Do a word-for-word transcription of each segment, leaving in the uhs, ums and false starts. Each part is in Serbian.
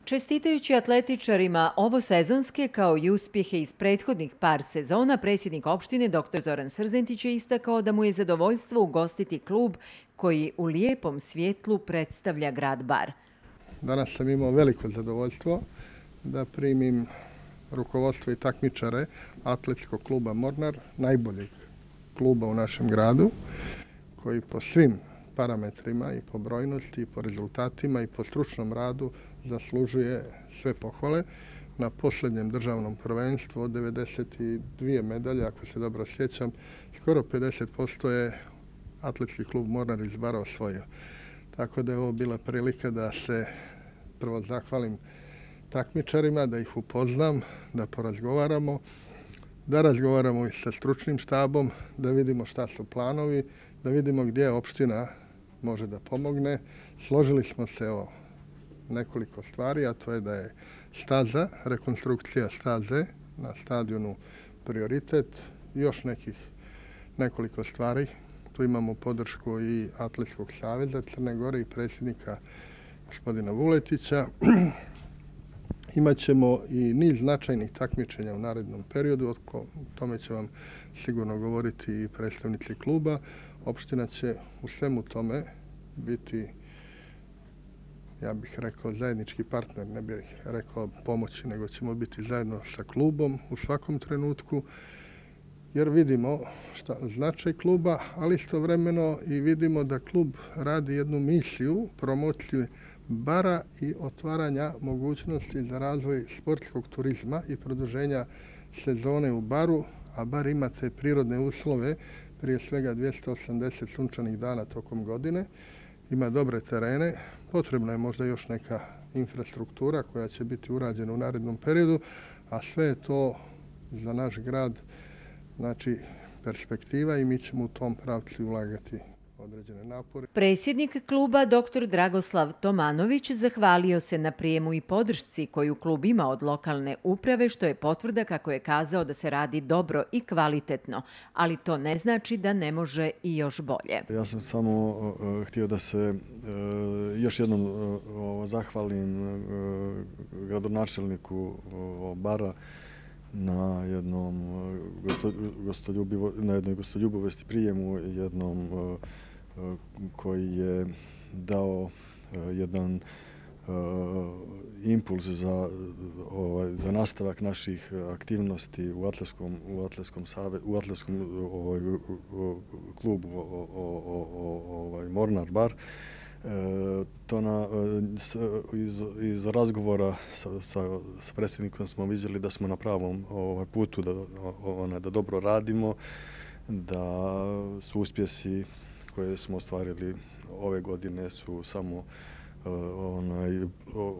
Čestitajući atletičarima ovo sezonske kao i uspjehe iz prethodnih par sezona, predsjednik opštine doktor Zoran Srzentić je istakao da mu je zadovoljstvo ugostiti klub koji u lijepom svjetlu predstavlja grad Bar. Danas sam imao veliko zadovoljstvo da primim rukovodstvo i takmičare atletskog kluba Mornar, najboljeg kluba u našem gradu, koji po svim parametrima i po brojnosti, i po rezultatima, i po stručnom radu zaslužuje sve pohvale. Na posljednjem državnom prvenstvu od devedeset dvije medalje, ako se dobro sjećam, skoro pedeset posto je atletski klub Mornar iz Bara osvojio. Tako da je ovo bila prilika da se prvo zahvalim takmičarima, da ih upoznam, da porazgovaramo, da razgovaramo i sa stručnim štabom, da vidimo šta su planovi, da vidimo gdje opština može da pomogne. Složili smo se o nekoliko stvari, a to je da je staza, rekonstrukcija staze na stadionu prioritet, još nekih nekoliko stvari. Tu imamo podršku i Atletskog saveza Crne Gore i predsjednika gospodina Vuletića. Imaćemo i niz značajnih takmičenja u narednom periodu, o tome će vam sigurno govoriti i predstavnici kluba. Opština će u svemu tome biti, ja bih rekao, zajednički partner, ne bih rekao pomoći, nego ćemo biti zajedno sa klubom u svakom trenutku, jer vidimo šta značaj kluba, ali istovremeno i vidimo da klub radi jednu misiju, promociju Bara i otvaranja mogućnosti za razvoj sportskog turizma i produženja sezone u Baru, a Bar ima te prirodne uslove, prije svega dvjesto osamdeset sunčanih dana tokom godine, ima dobre terene, potrebna je možda još neka infrastruktura koja će biti urađena u narednom periodu, a sve je to za naš grad znači perspektiva i mi ćemo u tom pravcu ulagati određene napore. Predsjednik kluba doktor Dragoslav Tomanović zahvalio se na prijemu i podršci koju klub ima od lokalne uprave, što je potvrda, kako je kazao, da se radi dobro i kvalitetno, ali to ne znači da ne može i još bolje. Ja sam samo uh, htio da se uh, još jednom uh, zahvalim uh, gradonačelniku uh, Bara na jednom gosto, gostoljubivo, na jednoj gostoljubivosti prijemu, jednom uh, koji je dao jedan uh, impuls za, ovaj, za nastavak naših aktivnosti u atletskom, u atletskom, save, u atletskom ovaj, klubu o, o, o, ovaj, Mornar Bar. E, to na, iz, iz razgovora sa, sa, sa predsjednikom smo vidjeli da smo na pravom ovaj, putu, da, ona, da dobro radimo, da su uspjesi koje smo ostvarili ove godine su samo uh, onaj,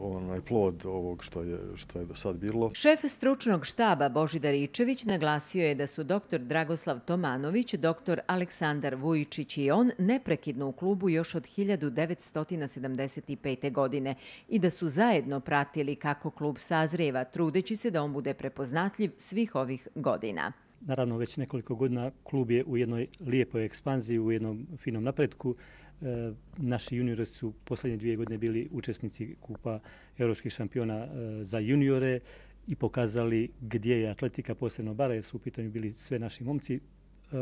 onaj plod ovog što je, što je do sad bilo. Šef stručnog štaba Božidar Ičević naglasio je da su doktor Dragoslav Tomanović, doktor Aleksandar Vujičić i on neprekidno u klubu još od hiljadu devetsto sedamdeset pete. godine i da su zajedno pratili kako klub sazrijeva, trudeći se da on bude prepoznatljiv svih ovih godina. Naravno, već nekoliko godina klub je u jednoj lijepoj ekspanziji, u jednom finom napretku. E, naši juniori su posljednje dvije godine bili učesnici kupa europskih šampiona e, za juniore i pokazali gdje je atletika, posebno Bara, jer su u pitanju bili sve naši momci e,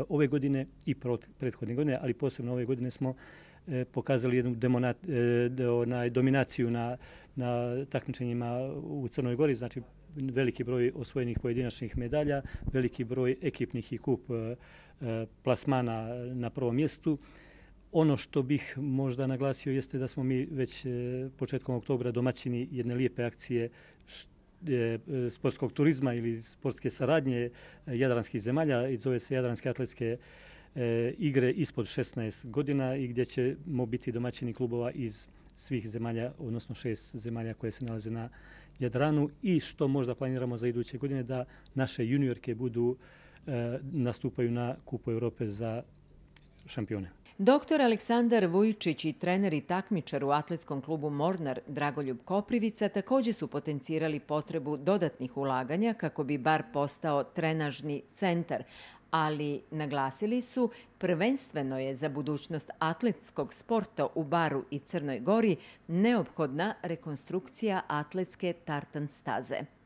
ove godine i prethodne godine, ali posebno ove godine smo e, pokazali jednu demonat, e, onaj, dominaciju na, na takmičenjima u Crnoj Gori, znači veliki broj osvojenih pojedinačnih medalja, veliki broj ekipnih i kup e, plasmana na prvom mjestu. Ono što bih možda naglasio jeste da smo mi već e, početkom oktobra domaćini jedne lijepe akcije š, e, sportskog turizma ili sportske saradnje jadranskih zemalja i zove se Jadranske atletske e, igre ispod šesnaest godina i gdje ćemo biti domaćini klubova iz svih zemalja, odnosno šest zemalja koje se nalaze na Jadranu i što možda planiramo za iduće godine da naše juniorke budu e, nastupaju na Kupu Europe za šampione. Doktor Aleksandar Vujičić i trener i takmičar u atletskom klubu Mornar Dragoljub Koprivica također su potencirali potrebu dodatnih ulaganja kako bi Bar postao trenažni centar, ali naglasili su prvenstveno je za budućnost atletskog sporta u Baru i Crnoj Gori neophodna rekonstrukcija atletske tartan staze.